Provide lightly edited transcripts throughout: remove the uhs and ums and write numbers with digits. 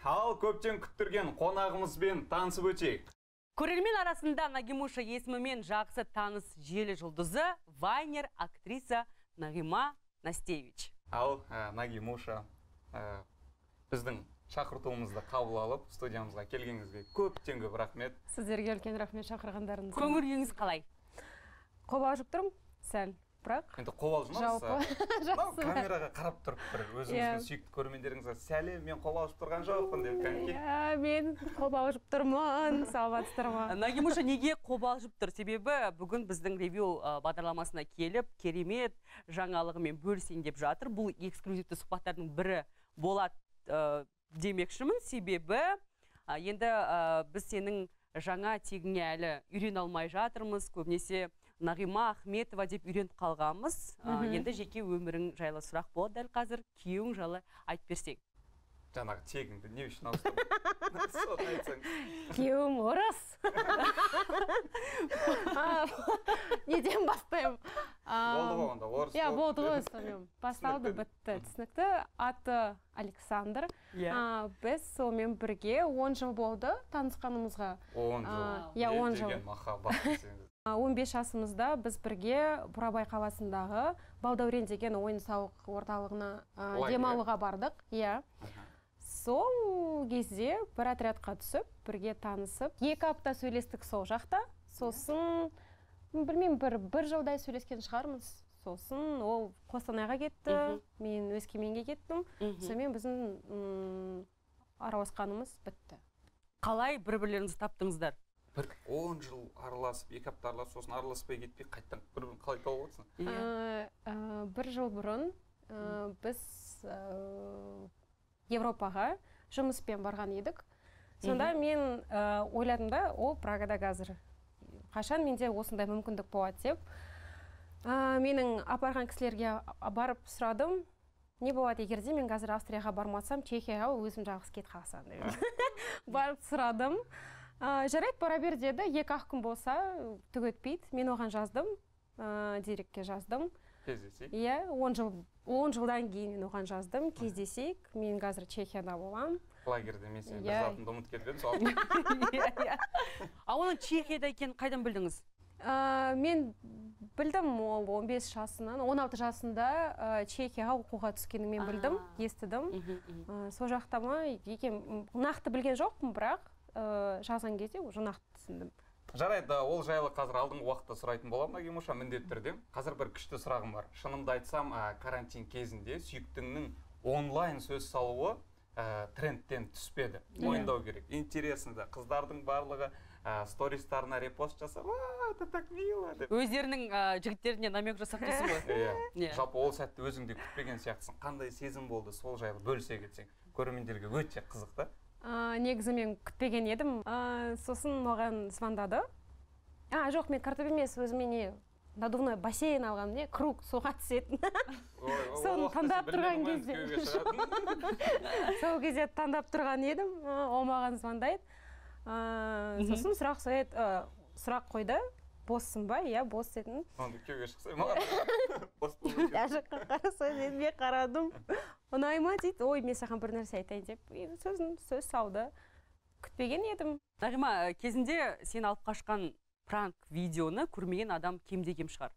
Ал көптен күттірген қонағымызбен танысып өтейік. Көрермен арасында Нагимуша есімімен жақсы таныс желі жұлдызы вайнер актриса Нағима Настевич. Ал Нагимуша біздің шақыртуымызды қабыл алып, студиямызға келгеніңізге көптен көп рахмет. Сіздерге үлкен рахмет шақырғандарыңызға. Көңіл күйіңіз қалай? Қобалжып тұрмын, сәл. Бірақ енді қобалжымаңыз. Жалпы Камераға қарап тұрып бір өзіңіздің сүйікті көрермендеріңізге сәлем, мен қобалжып тұрған жоқпын деп кәнекей. Мен қобалжып тұрмын, саламатсыздар ма? Нагимуша неге қобалжып тұр? Себебі бүгін біздің ревью бағдарламасына келіп, керемет жаңалығымен бөлісейін деп жатыр. Бұл эксклюзивті сұхбаттардың бірі болады демекшімін. Себебі енді біз сенің жаңа тегіңе әлі үйрене алмай жатырмыз. Көбінесе Нағима Ахметова деп үйреніп қалғанбыз. Енді жеке өмірің жайлы сұрақ болады дәл қазір. Күйеуің жайлы айтып берсең. Жаңағы тегіңді не үшін ауыстырдың? Күйеуім орыс. Неден бастаймын? Болды ғой онда, орыс. Иә, болды ғой сонымен. Басталды, бітті. Түсінікті. Аты Александр. Біз сонымен бірге 10 жыл болды танысқанымызға. 10 жыл. Иә, 10 жыл. Деген махаббат. 15 жасымызда біз бірге Бурабай қаласындағы Балдәурен деген ойын-сауық орталығына демалуға бардық. Иә. Сол кезде бір отрядқа түсіп, бірге танысып, 2 апта сөйлестік сол жақта. Сосын, білмеймін, бір жылдай сөйлескен шығармыз. Сосын ол Қостанайға кетті, мен Өскеменге кеттім. Сонымен біздің араласқанымыз бітті. Қалай бір-бірлеріңізді таптыңыздар? 10 жыл араласып, 2 апта араласып, сосын араласпай кетпей, қайттан бір-бірін қалай тауып отырсың? Бір жыл бұрын біз Европаға жұмыспен барған едік. Сонда мен ойладым да, ол Прагада қазір. Қашан менде осындай мүмкіндік болады деп. Менің апарған кісілерге барып сұрадым. Не болады егерде мен қазір Австрияға бармасам, Чехияға өзім жалғыз кет қалсам деп. Барып сұрадым. Жарайды, бара бер деді. 2-ақ күн болса, түк өтпейді. Мен оған жаздым, дирекке жаздым. Кездесейік? Иә, 10 жылдан кейін мен оған жаздым. Кездесейік. Мен қазір Чехияда болам. Лагерде мен сен бір затымды ұмыт кеткен сол. Оның Чехияда екенін қайдан білдіңіз? Мен білдім, ол 15 жасынан, 16 жасында Чехияға оқуға түскенін мен білдім, естідім. Сол жақта ма, нақты білген жоқпын, бірақ жазған кезде уже нақты түсіндім. Жарайды, ол жайлы қазір алдыңғы уақытта сұрайтын боламын, Нагимуша, міндетті түрде. Қазір бір күшті сұрағым бар. Шынымды айтсам, карантин кезінде сүйіктіңнің онлайн сөз салуы трендтен түспеді. Мойындау керек. Интересно, қыздардың барлығы стористарына репост жасап, это так мило деп. Өздерінің жігіттеріне намек жасап дейсің ғой. Жалпы ол сәтті өзіңде күтпеген сияқтысың. Қандай сезім болды, сол жайлы бөлісе кетсең. Көрермендерге өте қызық та. Негізі мен күтпеген едім. Сосын маған звондады. Жоқ, мен картоп емес, өзіме не надувной бассейн алғам, не круг суға түсетін. Соны таңдап тұрған кезде. Сол кезде таңдап тұрған едім. Ол маған звондайды. Сосын сұрақ қойды. Боссың ба? Иә, босс дедім. Онда күйеуге шықсай маған. Босс болу керек. Жаққа қарасай дедім, мен қарадым. Ұнай ма дейді, ой, мен саған бір нәрсе айтайын деп. Сөз салды. Күтпеген едім. Нағима, кезінде сен алып қашқан пранк видеоны көрмеген адам кем-де-кем шығар.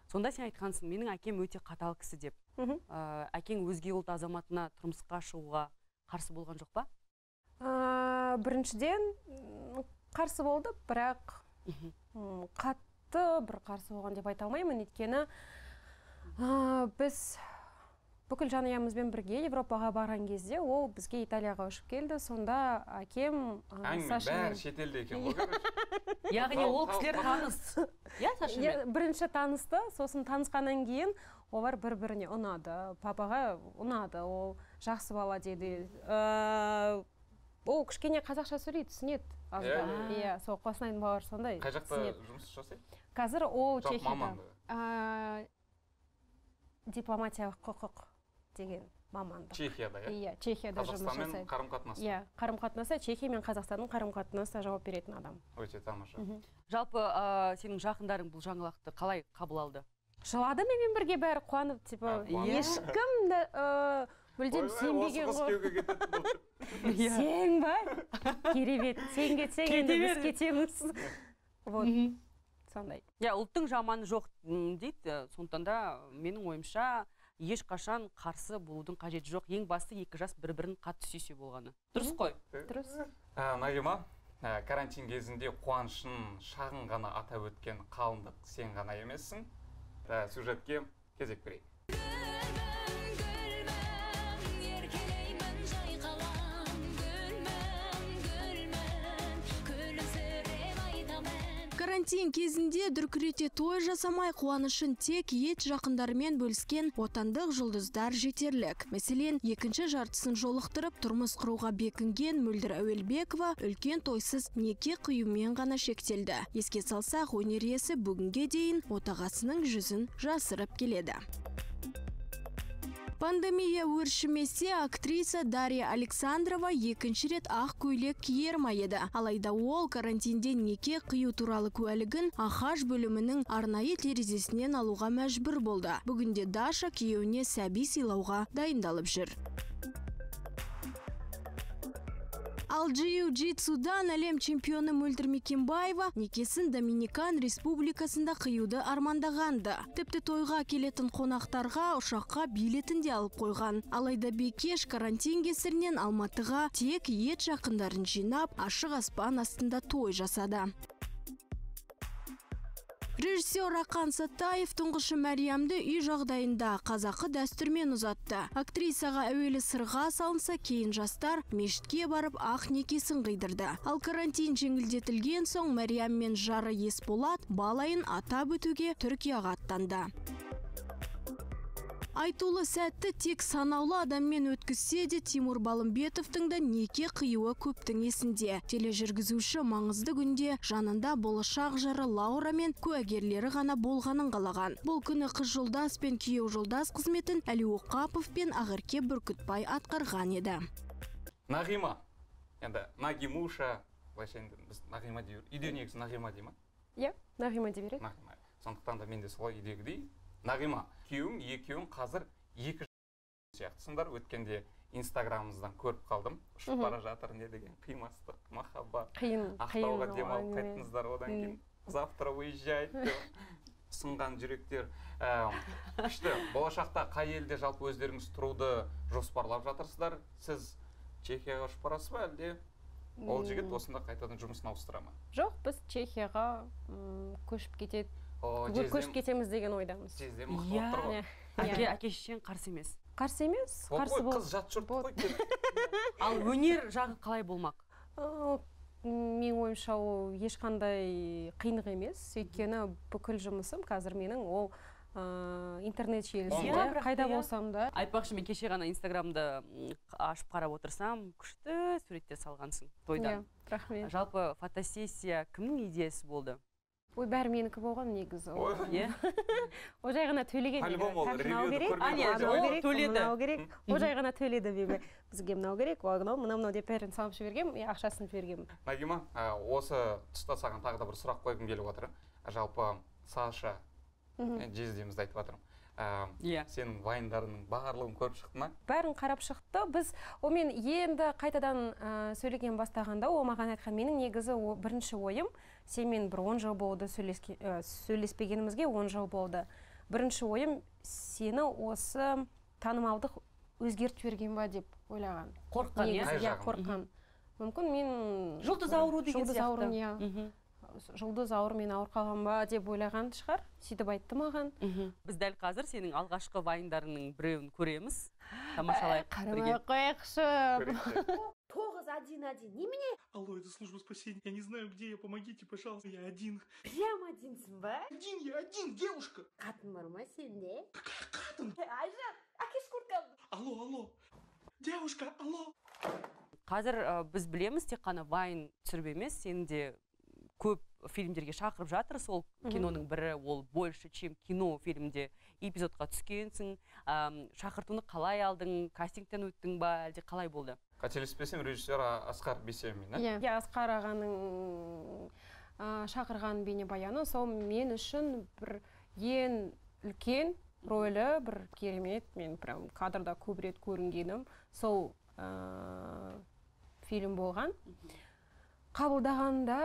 Сонда сен айтқансың, менің әкем өте қатал кісі деп. Әкең өзге ұлт азаматына тұрмысқа шығуға қарсы болған жоқ па? Біріншіден қарсы болды, бірақ қатты бір қарсы болған деп айта алмаймын. Өйткені біз бүкіл жанұямызбен бірге Европаға барған кезде ол бізге Италияға ұшып келді. Сонда әкем бәрі шетелде екен ғой, короче. Яғни ол кісілер таныс. Иә, Сашамен? Бірінші танысты, сосын танысқаннан кейін олар бір-біріне ұнады. Папаға ұнады, ол жақсы бала деді. Ол кішкене қазақша сөйлейді, түсінеді. Иә, сол Қостанайдың балалары сондай. Қай жақта жұмыс жасайды? Қазір ол Чехияда. Маманды? Дипломатиялық құқық деген маманды. Чехияда, иә? Иә, Чехияда жұмыс жасайды. Қазақстанмен қарым-қатынасы? Иә, қарым-қатынасы Чехия мен Қазақстанның қарым-қатынасына жауап беретін адам. Өте тамаша. Жалпы сенің жақындарың бұл жаңалықты қалай қабыл алды? Жылады менімен бірге бәрі қуанып, ешкім мүлдем сенбеген ғой. сен ба? Керемет, сен кетсең енді біз кетеміз. Вот, сондай. Ұлттың жаманы жоқ дейді, сондықтан да менің ойымша ешқашан қарсы болудың қажеті жоқ. Ең басты екі жас бір-бірін қатты сүйсе болғаны. Дұрыс қой? Дұрыс. Нағима, карантин кезінде қуанышын шағын ғана атап өткен қалыңдық сен ғана емессің. Сюжетке кезек берейік. Карантин кезінде дүркірете той жасамай қуанышын тек ет жақындарымен бөліскен отандық жұлдыздар жетерлік. Мәселен, екінші жартысын жолықтырып, тұрмыс құруға бекінген Мөлдір Әуелбекова үлкен тойсыз неке қиюмен ғана шектелді. Еске салсақ, өнер иесі бүгінге дейін отағасының жүзін жасырып келеді. Пандемия өршімесе, актриса Дарья Александрова екінші рет ақ көйлек киер ма еді. Алайда ол карантинде неке қию туралы куәлігін Ахаж бөлімінің арнайы терезесінен алуға мәжбүр болды. Бүгінде Даша күйеуіне сәби сыйлауға дайындалып жүр. Ал джиу-джитсудан әлем чемпионы Мөлдір Мекенбаева некесін Доминикан Республикасында қиюды армандағанды. Тіпті тойға келетін қонақтарға ұшаққа билетін де алып қойған. Алайда Бекеш карантин кесірінен Алматыға тек ет жақындарын жинап, ашық аспан астында той жасады. Режиссер Рақан Саттаев тұңғышы Мәриямды үй жағдайында қазақы дәстүрмен ұзатты. Актрисаға әуелі сырға салынса, кейін жастар мешітке барып ақ некесін қидырды. Ал карантин жеңілдетілген соң Мәриям мен жары Есболат балайын атап өтуге Түркияға аттанды. Айтулы сәтті тек санаулы адаммен өткізсе де Тимур Балымбетовтың да неке қиюы көптің есінде. Тележүргізуші маңызды күнде жанында болашақ жары Лаура мен куәгерлері ғана болғанын қалаған. Бұл күні қыз жолдас пен күйеу жолдас қызметін Әли Оқапов пен Ақерке Бүркітбай атқарған еді. Нағима, енді Нағимуша, былайша енді біз Нағима дейміз. Үйде негізі Нағима дей ма? Иә, Нағима деп береді. Нағима. Сондықтан да мен де солай үйдегідей. Нағима, екеуің қазір екі сияқтысыңдар. Өткенде инстаграмымыздан көріп қалдым. Ұшып бара жатыр не деген қимастық, махаббат. Ақтауға демалып қайттыңыздар, одан кейін завтра выезжайды деп сынған жүректер. Күшті, болашақта қай елде жалпы өздеріңіз тұруды жоспарлап жатырсыздар? Сіз Чехияға ұшып барасыз ба, әлде ол жігіт осында қайтадан жұмысын ауыстыра ма? Жоқ, біз Чехияға көшіп кетеміз деген ойдамыз. Жезден мақтап тұр ғой. Әке-шешең қарсы емес. Қарсы емес, қарсы бол. Қыз жат жұрт қой. Ал өнер жағы қалай болмақ? Мен ойымша ол ешқандай қиындық емес. Өйткені бүкіл жұмысым қазір менің ол интернет желісінде қайда болсам да. Айтпақшы, мен кеше ғана инстаграмды ашып қарап отырсам, күшті суреттер салғансың тойдан. Рахмет. Жалпы фотосессия кімнің идеясы болды? Ой, бәрі менікі болған негізі. О жай ғана төлеген. Альбом ол, ревьюді көрмей. О жай ғана төледі бейбі. Бізге мынау керек, мынау деп бәрін салып жібергем, ақшасын жібергем. Нағима, осы тұста саған тағы да бір сұрақ қойғым келіп отыр. Жалпы Саша жездемізді айтып жатырмын. Сенің вайндарының барлығын көріп шықты ма? Бәрін қарап шықты. Біз омен енді қайтадан сөйлеген бастағанда, о маған айтқан менің негізі бірінші ойым, сенімен бір 10 жыл болды сөйлеспегенімізге 10 жыл болды. Бірінші ойым сені осы танымалдық өзгертіп жіберген ба деп ойлаған. Қорыққан, иә? Қорыққан. Мүмкін мен жұлдыз ауру деген сияқты. Жұлдыз ауыр мен ауыр қалған ба деп ойлаған шығар. Сөйтіп айтты маған. Біз дәл қазір сенің алғашқы вайндарының біреуін көреміз. Тамашалайық. Қарамай қойықшы. 911. Немене? Алло, это служба спасения. Я не знаю, где я. Помогите, пожалуйста. Я один. Прям одинсың ба? Я один, девушка. Қатын бар ма сенде? Какая қатын? Айжан, әкеш курткамды. Алло. Девушка, алло. Қазір біз білеміз, тек қана вайн түсіріп емес, сені де көп фильмдерге шақырып жатыр. Сол киноның бірі, ол больше, чем кино фильмде эпизодқа түскенсің. Шақыртуны қалай алдың, кастингтен өттің ба, әлде қалай болды? Қателеспесем, режиссер Асқар Бейсемин. Иә, Асқар ағаның шақырған бейнебаяны, сол мен үшін бір ең үлкен рөлі, бір керемет. Мен прям кадрда көп рет көрінгенім. Сол фильм болған. Қабылдағанда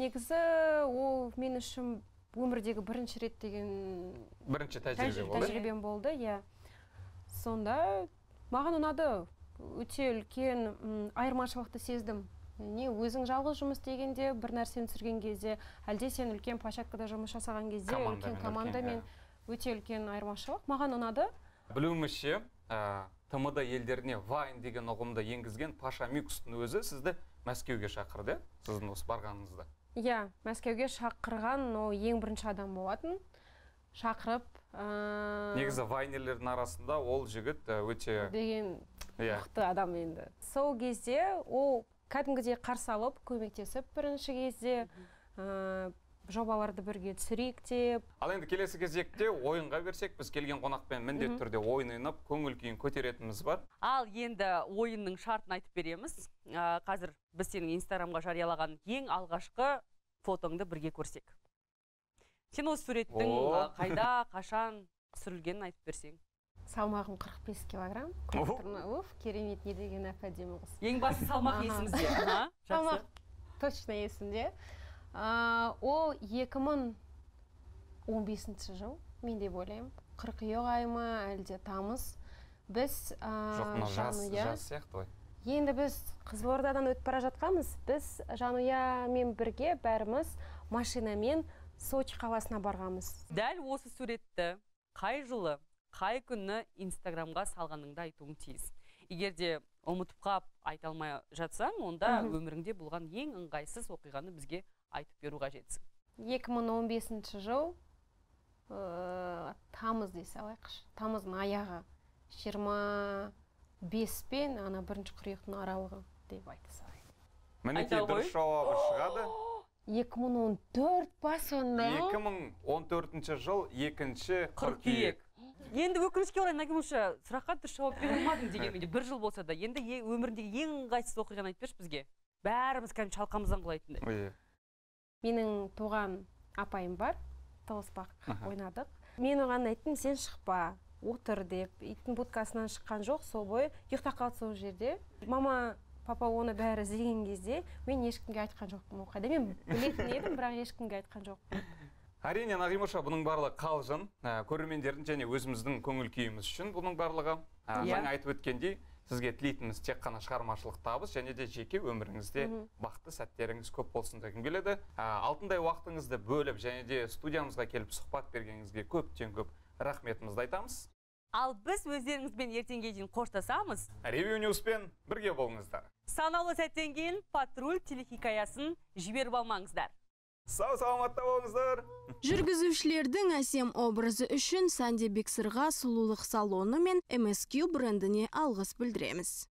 негізі ол мен үшін өмірдегі бірінші рет деген бірінші тәжірибем болды, иә. Сонда маған ұнады, өте үлкен айырмашылықты сездім. Не өзің жалғыз жұмыс дегенде, бір нәрсені түсірген кезде, әлде сен үлкен площадкада жұмыс жасаған кезде, үлкен командамен өте үлкен айырмашылық. Маған ұнады. Білуімізше, ТМД елдеріне Вайн деген ұғымды енгізген Паша Мюкстің өзі сізді Мәскеуге шақырды, сіздің осы барғаныңызды. Иә, Мәскеуге шақырған ол ең бірінші адам болатын. Шақырып... Негізі вайнерлердің арасында ол жігіт өте... Деген мықты адам енді. Сол кезде ол кәдімгідей қарсы алып, көмектесіп бірінші кезде жобаларды бірге түсірейік деп. Ал енді келесі кезекте ойынға берсек, біз келген қонақпен міндетті түрде ойын ойнап, көңіл күйін көтеретініміз бар. Ал енді ойынның шартын айтып береміз. Қазір біз сенің Инстаграмға жариялаған ең алғашқы фотоңды бірге көрсек. Сен осы суреттің қайда, қашан түсірілгенін айтып берсең. Салмағым 45 килограмм. Керемет, не деген әпәдемі қыз. Ең басы салмақ есімізде. Салмақ точно есімде. Ол 2015 жыл, мен деп ойлаймын. Қыркүйек айы ма, әлде тамыз. Біз жас сияқты ғой. Енді біз Қызылордадан өтіп бара жатқанбыз. Біз Жанұямен бірге бәріміз машинамен Сочи қаласына барғанбыз. Дәл осы суретті қай жылы, қай күні Инстаграмға салғаныңды айтуың тиіс. Егер де ұмытып қап айта алмай жатсаң, онда өміріңде болған ең ыңғайсыз оқиғаны бізге айтып беру қажетсің. 2015 жыл тамыз дей салайықшы. Тамыздың аяғы 25 пен бірінші қыркүйектің аралығы деп айта салайық. Мінекей дұрыс жауабы шығады. 2014 па сонда? 2014 жыл 2-ші қыркүйек. Енді өкінішке орай Нагимуша сұраққа дұрыс жауап бере алмадың дегенменде бір жыл болса да, енді өміріндегі ең ыңғайсыз оқиғаны айтып берші бізге. Бәріміз кәдімгі шалқамыздан құлайтындай. Менің туған апайым бар, Толыспақ ойнадық. Мен оған айттым, сен шықпа, отыр деп. Иттің будкасынан шыққан жоқ, сол бойы ұйықтап қалды сол жерде. Мама, папа оны бәрі іздеген кезде мен ешкімге айтқан жоқпын. Қайда мен білетін едім, бірақ ешкімге айтқан жоқпын. Әрине, Нағимуша, бұның барлығы қалжың, көрермендердің және өзіміздің көңіл күйіміз үшін бұның барлығы. Жаңа айтып өткендей, сізге тілейтініміз тек қана шығармашылық табыс және де жеке өміріңізде бақытты сәттеріңіз көп болсын дегім келеді. Алтындай уақытыңызды бөліп және де студиямызға келіп сұхбат бергеніңізге көптен көп рахметімізді айтамыз. Ал біз өздеріңізбен ертеңге дейін қоштасамыз. Ревью Ньюспен бірге болыңыздар. Санаулы сәттен кейін патруль телехикаясын жіберіп алмаңыздар. Сау саламатта болыңыздар. Жүргізушілердің әсем образы үшін Санде Бексырға сұлулық салоны мен MSQ брендіне алғыс білдіреміз.